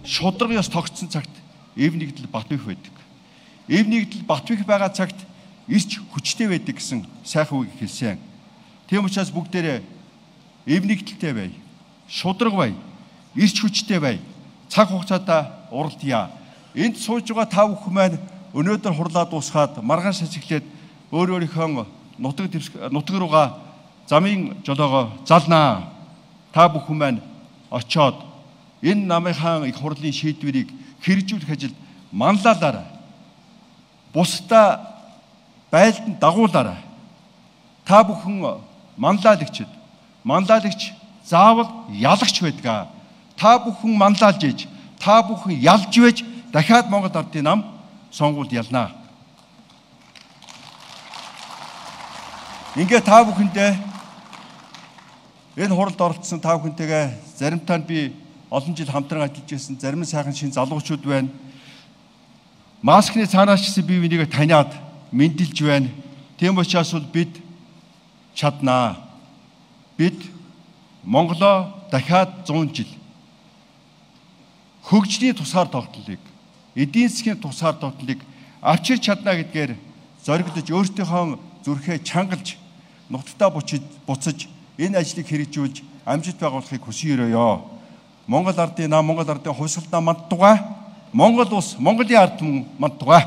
шударга ёс тогтсон цагт эв нэгдэл Батбих байдаг. Эв нэгдэл Батбих байгаа цагт ирч хүчтэй байдаг гэсэн сайхан үг хэлсэн. Тийм учраас бүгдээрээ эв нэгдэлтэй бай, шударга бай, ирч хүчтэй бай. Цаг хугацаатаа уралдъя. Энд сууж байгаа та бүхэн маань өнөөдөр хурлаа дуусгаад маргааш ажиглээд өөрийнхөө нутаг руугаа замын жолоогоо залнаа. Та бүхэн маань очоод энэ намынхаа их хурлын шийдвэрийг хэрэгжүүлэх ажилд манлайлаарай. Бусдаа байлдан дагуулаарай. Та бүхэн манлайлагчд, манлайлагч заавал ялагч байдаг. Та бүхэн манлайлж ээж, та бүхэн ялж байж дахиад Монгол Ардын нам сонгуульд ялнаа. Ингээ та бүхэндээ энэ хуралд оролцсон та бүхэнтэйгээ заримтаа нь би олон жил хамтран ажиллаж байсан, зарим нь сайхан шин залуучууд байна. Маскны цаанаас ч би бинийг таниад мэндэлж байна. Тийм учраас бол бид чаднаа. Бид Монголоо дахиад 100 жил хөгжлийн тусгаар тогтнолыг, эдийн засгийн тусгаар тогтнолыг авчирч чадна гэдгээр зоригдож өөртөөхөө зүрхээ чангалж, нутагтаа буцаж энэ ажлыг хэрэгжүүлж амжилт байгуулахыг хүсэн өрөөё. Монгол Ардын нам, Монгол Ардын хувьсгалдаа манд тугай. Монгол улс, Монголын ард түмэн манд тугай.